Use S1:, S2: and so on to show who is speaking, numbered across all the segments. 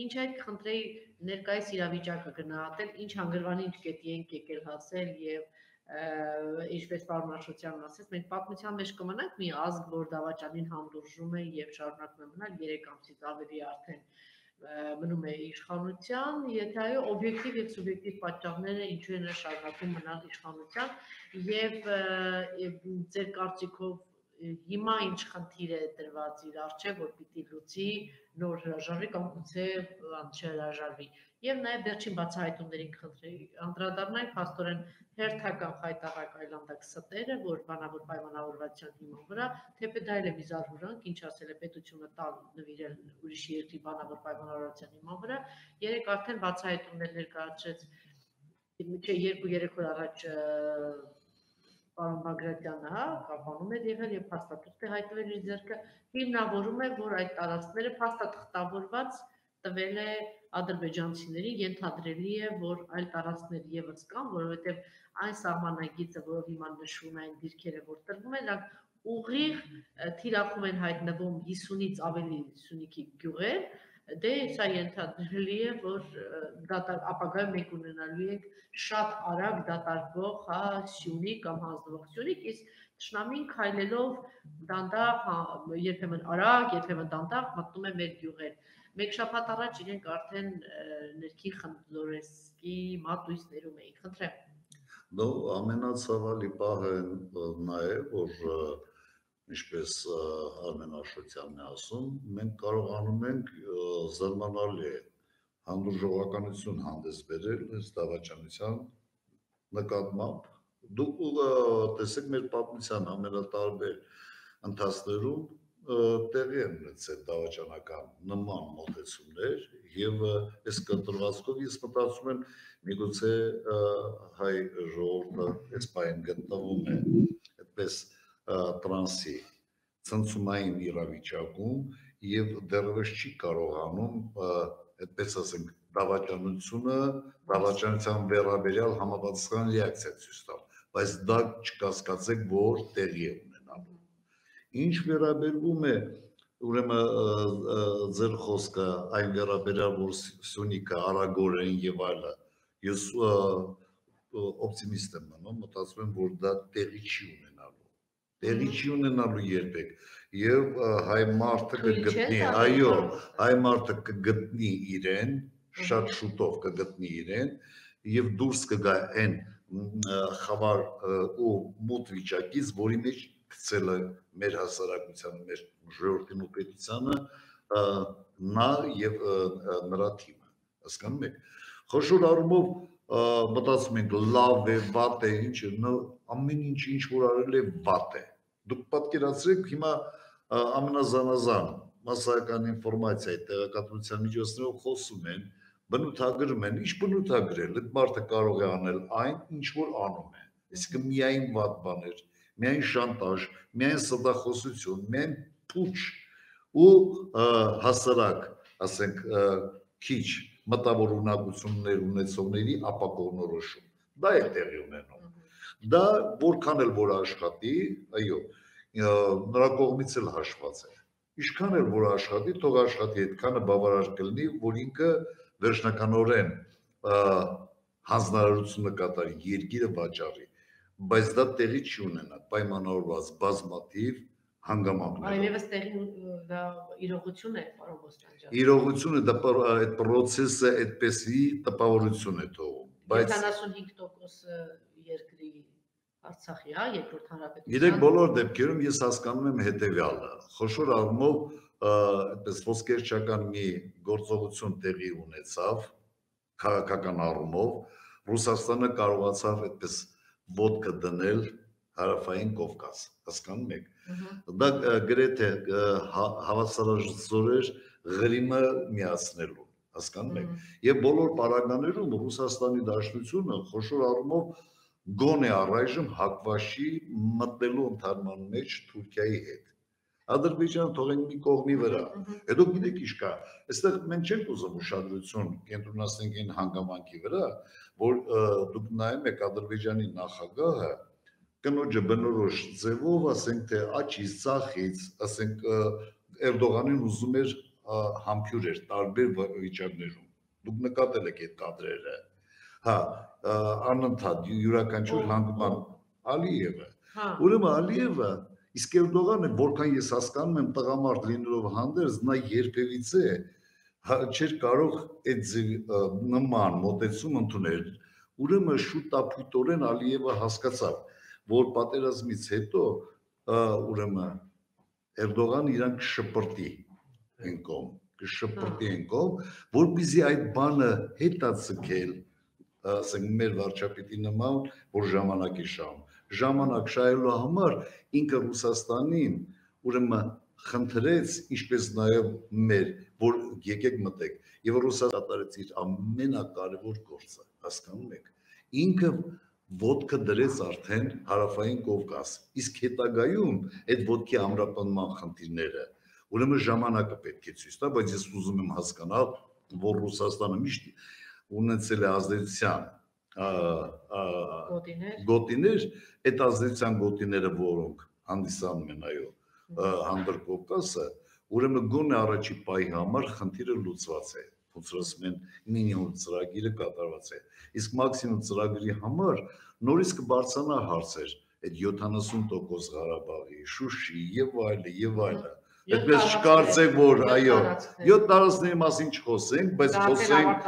S1: Ինչ այդ խնդրեի ներկայիս իրավիճակը գնահատել, ինչ հանգրվանի ինչ կետի ենք եկել հասել եւ ինչպես պարոն Աշոտյանն ասեց, մենք պատմության մեջ կմնանք մի ազգ, որ դավաճանին հանդուրժում է եւ շարունակում է մնալ 3 ամսից ավելի արդեն մնում է իշխանության, եթե այո օբյեկտիվ եւ սուբյեկտիվ պատճառները ինչու են շարունակում մնալ իշխանության եւ ձեր կարծիքով հիմա ինչ խնդիր է դրված իր առջև, որ պիտի լուծի նոր հրաժարվի կամ գուցե չհրաժարվի։ Եվ նաև վերջին բացահայտումներին խնդրեի անդրադառնալ փաստորեն հերթական խայտառակ այլանդակ ստերը, որ բանավոր պայմանավորվածության հիման վրա, թեպետ դա էլ է մի զարհուրանք, ինչ ասել է պետությունը տալ նվիրել ուրիշ երկրի բանավոր պայմանավորվածության հիման վրա, երեք արդեն բացահայտումներ ներկայացրեց 2-3 օր առաջ պարոն Բագրատյանը, կապանում էր եղել եւ փաստաթուղթ է հայտնվել իր ձեռքը, հիմնավորում է, որ այդ տարածքները փաստաթղթավորված տվել է ադրբեջանցիներին, ենթադրելի է, որ այլ տարածքներ եւս կան, որովհետեւ այն սահմանագիծը, որով հիմա նշվում է այն դիրքերը, որ տրվում են, նրանք ուղիղ թիրախում են հայտնվում 50-ից ավելի Սյունիքի գյուղեր, դե սա ենթադրելի է, որ ապագայում մենք ունենալու ենք շատ արագ դատարկվող Սյունիք կամ հանձնվող Սյունիք, իսկ Թշնամին քայլելով դանդաղ, երբեմն արագ, երբեմն դանդաղ մտնում է մեր գյուղեր։ Մեկ շաբաթ առաջ իրենք արդեն ներքին խնդրեսկի մատույցներում էին, խնդրեմ։
S2: Նո, ամենացավալի պահը նա է, որ ինչպես Արմեն Աշոտյանն է ասում, մենք կարողանում ենք զարմանալի հանդուրժողականություն հանդես բերել այս դավաճանության նկատմամբ։ Դուք տեսեք մեր պատմության ամենատարբեր ընթացներում տեղի են ունեցել դավաճանական նման մոտեցումներ եւ այս կտրվածքով ես մտածում եմ միգուցե հայ ժողովուրդը այս պայն գտնվում է այդպես տրանսի ցնցումային իրավիճակում եւ դեռևս չի կարողանում այդպես ասենք դավաճանության վերաբերյալ համապատասխան ռեակցիա ցույց տալ, բայց դա չկասկածեք, որ տեղի է ունենալու։ Ինչ վերաբերվում է ուրեմն ձեր խոսքը այն վերաբերյալ, որ Սյունիքը արագորեն եւ այլը, ես օպտիմիստ եմ մնում, մտածում եմ, որ դա տեղի չի ունենալու երբեք եւ հայ մարդը կգտնի, այո, հայ մարդը կգտնի իրեն, շատ շուտով կգտնի իրեն եւ դուրս կգա այն խավար ու մութ վիճակից, որի մեջ գցել է մեր հասարակությանը, մեր ժողովրդին ու պետությանը նա եւ նրա թիմը, հասկանում եք։ Խոշոր առումով մտածում ենք լավ է, վատ է, ինչ է, ամեն ինչ որ արել է վատ է։ Դուք պատկերացրեք հիմա ամենազանազան մասսայական ինֆորմացիայի տեղեկատվության միջոցներով խոսում են, բնութագրում են, ինչ բնութագրել, այդ մարդը կարող է անել այն, ինչ որ անում է։ Այսինքն միայն վատ բաներ, միայն շանտաժ, միայն սրտախոսություն, միայն փուչ ու հասարակ, ասենք, քիչ մտավոր ունակություններ ունեցողների ապակողնորոշում։ Դա է տեղի ունենում։ Դա որքան էլ որ աշխատի, այո, նրա կողմից էլ հաշված է։ Ինչքան էլ որ աշխատի, թող աշխատի, այդքանը բավարար կլինի, որ ինքը վերջնականորեն հանձնարարությունը կատարի, երկիրը վաճառի, բայց դա տեղի չի ունենա պայմանավորված բազմաթիվ հանգամանքներով։
S1: Այլևս տեղի դա իրողություն է, պարոն Ոստանջյան։
S2: Իրողություն է, դա այդ պրոցեսը այդպեսի տպավորություն է թողում, բայց
S1: 75% երկրի Արցախի, երկրորդ հանրապետության։
S2: Գիտեք, բոլոր դեպքերում ես հասկանում եմ հետևյալը, խոշոր առումով այդպես ոսկերչական մի գործողություն տեղի ունեցավ քաղաքական առումով, Ռուսաստանը կարողացավ այդպես ոտքը դնել հարավային Կովկաս, հասկանում եք։ Դա գրեթե հավասարազոր էր Ղրիմը միացնելու, հասկանում եք։ Եվ բոլոր պարագաներում Ռուսաստանի Դաշնությունը խոշոր առումով գոնե առայժմ հակված չի մտնելու ընդհանրման մեջ Թուրքիայի հետ։ Ադրբեջանը թողենք մի կողմի վրա։ Հետո գիտեք ինչ կա, այստեղ մենք չենք ուզում ուշադրություն կենտրոնացնենք այն հանգամանքի վրա, որ դուք նայում եք Ադրբեջանի նախագահը կնոջը բնորոշ ձևով, ասենք թե աչից, ծախից, ասենք Էրդողանին ուզում էր համբյուր էր տարբեր վիճակներում։ Դուք նկատել եք այդ կադրերը։ Հա, անընդհատ յուրաքանչյուր հանդիպան Ալիևը։ Ուրեմն Ալիևը իսկ Էրդողանը, որքան ես հասկանում եմ, տղամարդ լինելով հանդերձ, նա երբևիցե չէր կարող այդ նման մոտեցում ընդունել։ Ուրեմն շուտապույտորեն Ալիևը հասկացավ, որ պատերազմից հետո ուրեմն Էրդողան իրան կշպրտի այն կողմ, որպեսզի այդ բանը հետաձգել, ասենք մեր վարչապետի նման, որ ժամանակի շահում։ Ժամանակ շահելու համար ինքը Ռուսաստանին ուրեմն խնդրեց, ինչպես նաև մեր, որ եկեք մտեք, եւ Ռուսաստանը կատարեց իր ամենակարևոր գործը, հասկանում եք։ Ինքը ոտքը դրեց արդեն հարավային Կովկաս, իսկ հետագայում այդ ոտքի ամրապնման խնդիրները ուրեմն ժամանակը պետք է ցույց տա, բայց ես ուզում եմ հասկանալ, որ Ռուսաստանը միշտ ունեցել է ազդեցության գոտիներ, այդ ազդեցության գոտիները, որոնք հանդիսանում են այո հանդր Կովկասը, ուրեմն գոնե առաջի պահի համար խնդիրը լուծված է, ոնց որ ասում են մինիմում ծրագիրը կատարված է, իսկ մաքսիմում ծրագրի համար նորից կբարձրանա հարցեր, այդ 70% Ղարաբաղի, Շուշի եւ այլը, այդպես չկարծեք, որ այո, 7 տարածքների մասին չխոսենք, բայց խոսենք,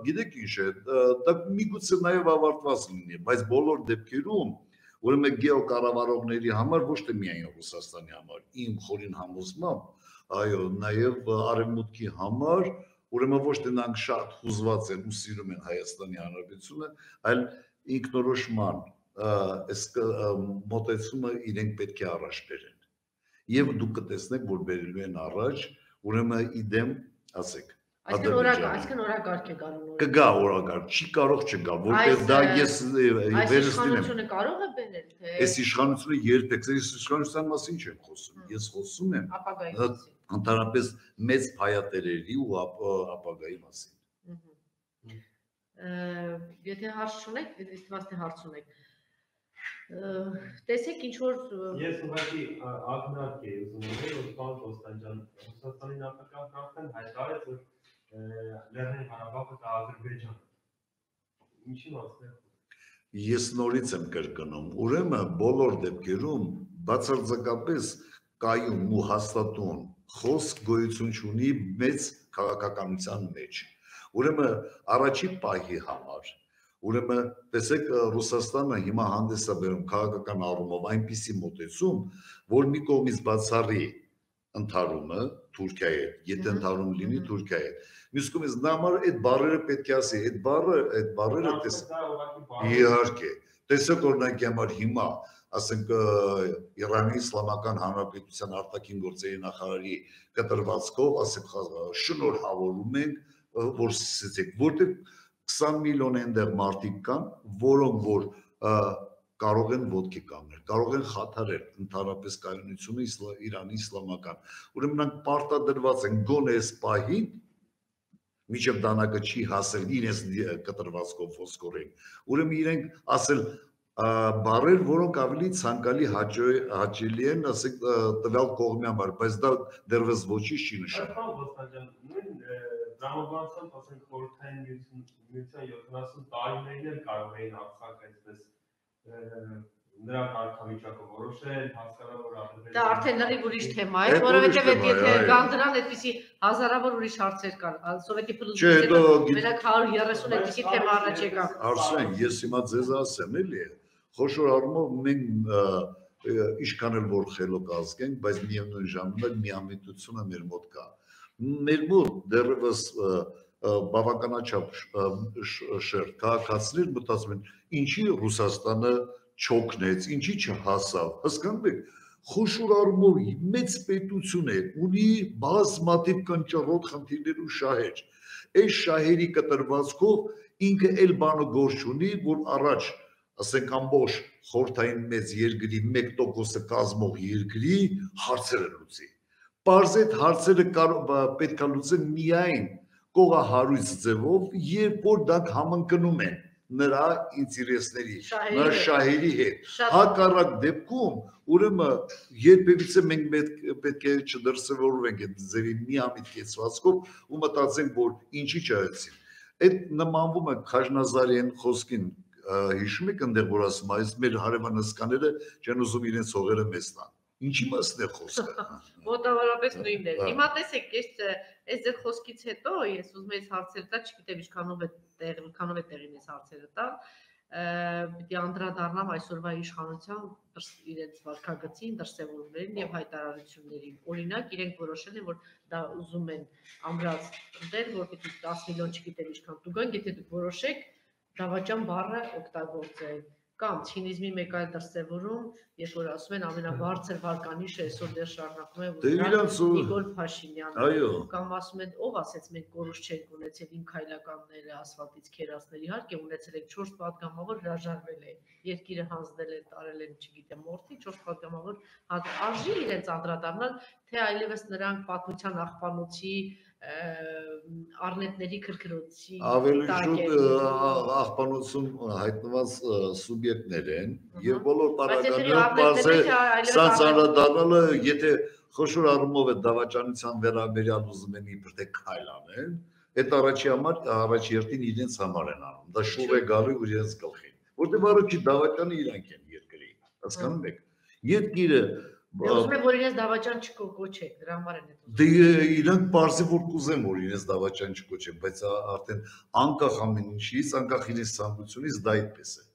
S2: գիտեք ինչ է, դա միգուցե նաև ավարտված լինի, բայց բոլոր դեպքերում, ուրեմն գեոկառավարողների համար, ոչ թե միայն Ռուսաստանի համար, իմ խորին համոզմամբ, այո, նաև արևմուտքի համար, ուրեմն ոչ թե նրանք շատ հուզված են ու սիրում են Հայաստանի Հանրապետությունը, այլ ինքնորոշման մոտեցումը իրենք պետք է առաջ բերեն։ Եվ դուք կտեսնեք, որ բերելու են առաջ, ուրեմն իդեմ, ասեք,
S1: այսքան օրակարգ է գալու։
S2: Կգա օրակարգ, չի կարող չգա, որտեղ դա ես վերստին եմ։
S1: Այս իշխանությունը կարող է բերել, թե
S2: այս իշխանությունը երբեք, այս իշխանության մասին չեմ խոսում, ես խոսում եմ ընդհանրապես մեծ փայատերերի ու ապագայի մասին։
S1: Եթե հարց չունեք, դիտվածնի հարց ունեք, տեսեք ինչ որ
S3: ես ուղղակի ակնարկ էի ուզում ասել, որ պարոն Կոստանջյան, Ռուսաստանի նախագահն արդեն հայտարարեց, որ Լեռնային Ղարաբաղը կա Ադրբեջան։ Ինչի մասն է։
S2: Ես նորից եմ կրկնում, ուրեմն բոլոր դեպքերում բացարձակապես կայուն ու հաստատուն խոսք գոյություն չունի մեծ քաղաքականության մեջ։ Ուրեմն առաջի պահի համար Ուրեմն տեսեք Ռուսաստանը հիմա հանդես է բերում քաղաքական առումով այնպիսի մոտեցում, որ մի կողմից բացառի ընդհարումը Թուրքիայի հետ, եթե ընդհարում լինի Թուրքիայի հետ։ Մյուս կողմից նա համար այդ բառերը պետք է ասի, այդ բառերը իհարկե։ Տեսեք օրինակ համար հիմա, ասենք Իրանի Իսլամական Հանրապետության արտաքին գործերի նախարարի կտրվածքով, ասենք շնորհավորում ենք, որ սկսեցեք, որտեղ 20 միլիոն այնտեղ մարդիկ կան, որոնք որ կարող են ոտքի կանգնել, կարող են խաթարել ընդհանրապես կայունությունը Իրանի իսլամական։ Ուրեմն նրանք պարտադրված են գոնե այս պահին, մինչև դանակը չի հասել իրենց կտրվածքով ոսկորեն։ Ուրեմն իրենք ասել բառեր, որոնք ավելի ցանկալի հաճելի են, ասենք տվյալ կողմի համար, բայց դա դեռևս ոչինչ չի նշանակում։
S3: Դրամաբանությամբ ասենք խորհրդային միության 70 տարիներին էլ կարող էին Արցախը այսպես նրա կարգավիճակը որոշել, հասկանալ որ Ադրբեջանը
S1: դա արդեն լրիվ ուրիշ թեմա է, որովհետև եթե կան դրան այդպիսի հազարավոր ուրիշ հարցեր կան, սովետի փլուզումը, մենակ 130 այդպիսի թեմա առաջ եկավ։
S2: Արսեն, ես հիմա ձեզ ասեմ, էլի, խոշոր առումով մենք ինչքան էլ որ խելոք ազգենք, բայց միևնույն ժամանակ միամիտությունը մեր մոտ կա։ Մեր մոտ դեռևս բավականաչափ շերտ քաղաքացիներ մտածում են, ինչի Ռուսաստանը չօգնեց, ինչի չհասավ, հասկանում եք, խոշոր առումով մեծ պետություն է, ունի բազմաթիվ կնճռոտ խնդիրներ ու շահեր, այս շահերի կտրվածքով ինքը էլ բանը գործ ունի, որ առաջ, ասենք ամբողջ խորհրդային մեծ երկրի 1%-ը կազմող երկրի հարցերը լուծի։ Պարզ այդ հարցերը պետք է լուծեն միայն կողահարույց ձևով, երբ որ դրանք համընկնում են նրա ինտերեսների, նրա շահերի հետ։ Հակառակ դեպքում, ուրեմն երբևիցե մենք պետք է չդրսևորվենք այդ ձևի միամիտ կեցվածքով ու մտածենք, որ ինչի չայցին։ Այդ նմանվում է Խաժնազարյան խոսքին, հիշում եք այնտեղ, որ ասում է, այս մեր հարևանասկաները չեն ուզում իրենց հողերը մեզ տան։ Ինչի մասն է խոսքը։
S1: Մոտավորապես նույնն է։ Հիմա տեսեք, այս ձեր խոսքից հետո ես ուզում եմ հարցեր տալ, չգիտեմ ինչքանով է տեղին այս հարցերը տալ, պիտի անդրադառնամ այսօրվա իշխանության իրենց վարքագծին, դրսևորումներին եւ հայտարարություններին։ Օրինակ, իրենք որոշել են, որ դա ուզում են ամրած դեր, որ պիտի 10 միլիոն չգիտեմ ինչքան տուգան, եթե դուք որոշեք դավաճան բառը օգտագործել։ Կամ ցինիզմի մեկ այլ դրսևորում, երբ որ ասում են ամենաբարձր վարկանիշը այսօր դեռ շարունակում է Նիկոլ Փաշինյանը, կամ ասում են ով ասեց մենք կորուս չենք ունեցել իմ քայլականները ասֆալտից քերածներ, իհարկե ունեցել եք 4 պատգամավոր հրաժարվել է, երկիրը հանձնել են, տարել են, չգիտեմ, մորթի 4 պատգամավոր արժի իրենց անդրադառնալ, թե այլևս նրանք պատմության աղբանոցի առնետների քրքրոցի
S2: ավելի շուտ աղբանոցում հայտնված սուբյեկտներ են եւ բոլոր պարագաները սանձանադառնալը եթե խոշոր առումով է դավաճանության վերաբերյալ ուզում են իբր թե քայլ անեն այդ առաջի երթին իրենց համար են անում դա շուռ է գալու իրենց գլխին որտեղ առաջի դավաճանը իրանք են երկրի հասկանում եք երկիրը
S1: Ուզում եմ, որ իրենց դավաճան չկոչեք, դրա համար են այդ
S2: Դե իրանք պարզի որ կուզեն, որ իրենց դավաճան չկոչեն, բայց արդեն անկախ ամեն ինչից, անկախ իրենց ցանկությունից դա այդպես է։